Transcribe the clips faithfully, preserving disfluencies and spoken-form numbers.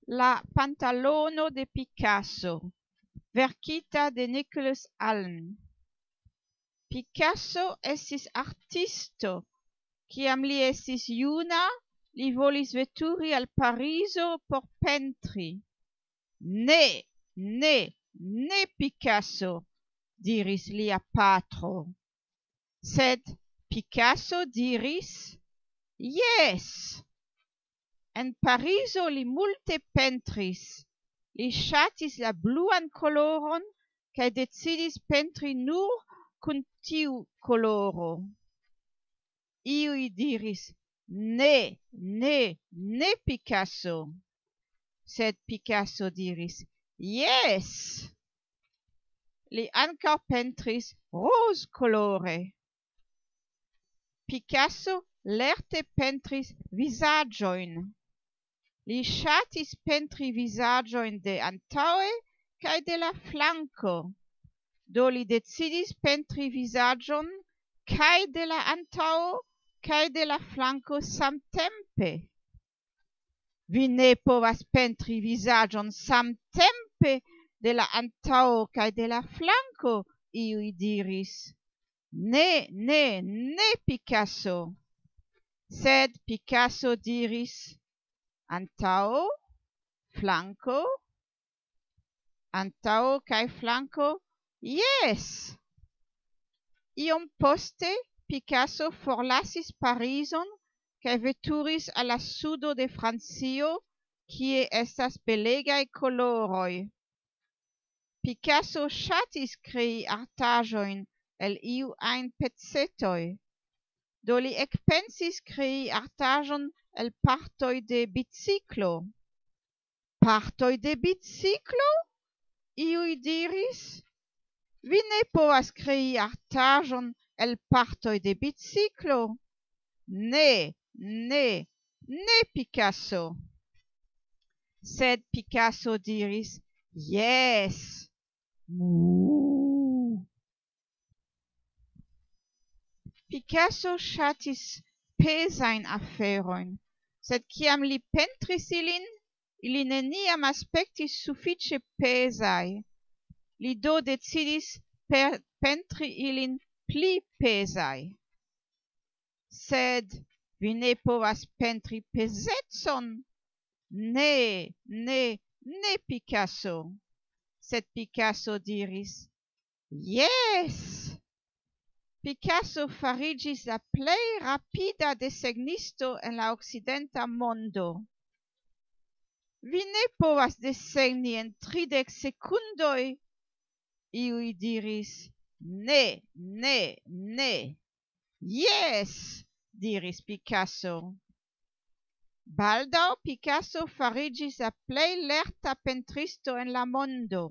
La pantalono de Picasso, verkita de Nicholas Allen. Picasso estis artisto. Kiam li estis juna, li volis veturi al Parizo por pentri. "Ne, ne, ne, Picasso," diris lia patro. Sed Picasso diris: "Jes." En Parizo li multe pentris. Li ŝatis la bluan koloron kaj decidis pentri nur kun tiu koloro. Iuj diris: "Ne, ne, ne, Picasso." Sed Picasso diris: "Jes." Li ankaŭ pentris rozkolore. Picasso lerte pentris vizaĝojn. Li ŝatis pentri vizaĝojn de antaŭe kaj de la flanko. Do li decidis pentri vizaĝon kaj de la antaŭo kaj de la flanko samtempe. "Vi ne povas pentri vizaĝon samtempe de la antaŭo kaj de la flanko," iuj diris. "Ne, ne, ne, Picasso." Sed Picasso diris: "Antaŭo, flanko, antaŭo kaj flanko, jes." Iom poste Picasso forlasis Parizon kaj veturis al la sudo de Francio, kie estas belegaj koloroj. Picasso ŝatis krei artaĵojn el iu ajn pecetoj. Do li ekpensis krei artaĵon el partoj de biciklo. "Partoj de biciklo?" iuj diris. "Vi ne povas krei artaĵon el partoj de biciklo." "Ne, ne, ne, Picasso." Sed Picasso diris: "Jes." Mu. Picasso ŝatis pezajn aferojn, sed kiam li pentris ilin, ili neniam aspektis sufiĉe pezaj. Li do decidis per-, pentri ilin pli pezaj. "Sed vi ne povas pentri pezecon." "Ne, ne, ne, Picasso." Sed Picasso diris: "Jes." Picasso fariĝis la plej rapida desegnisto en la okcidenta mondo. "Vi ne povas desegni en tridek sekundoj," iuj diris. "Ne, ne, ne." "Jes," diris Picasso. Baldaŭ Picasso fariĝis la plej lerta pentristo en la mondo.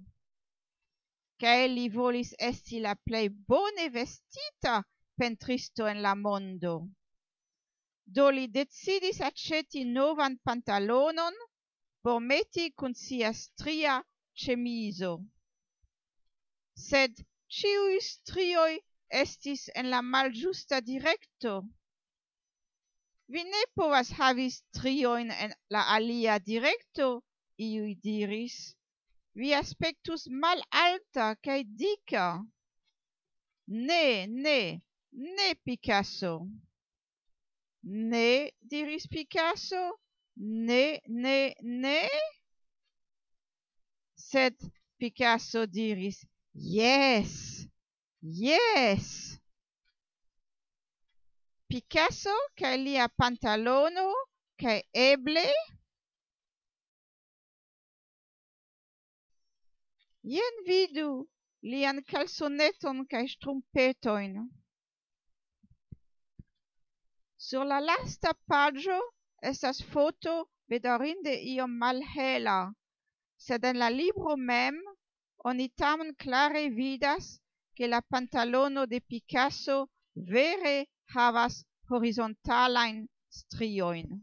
Kaj li volis esti la plej bone vestita pentristo en la mondo. Do li decidis aĉeti novan pantalonon por meti kun sia stria ĉemizo. Sed ĉiuj strioj estis en la malĝusta direkto. "Vi ne povas havi striojn en la alia direkto," iuj diris. "Vi aspektus malalta kaj dika." "Ne, ne, ne, Picasso." "Ne," diris Picasso, "ne, ne, ne." Sed Picasso diris: "Jes, jes." Picasso kaj lia pantalono, kaj eble, jen vidu lian kalsoneton kaj ŝtrumpetojn. Sur la lasta paĝo estas foto, bedaŭrinde iom malhela, sed en la libro mem oni tamen klare vidas, ke la pantalono de Picasso vere havas horizontalajn striojn.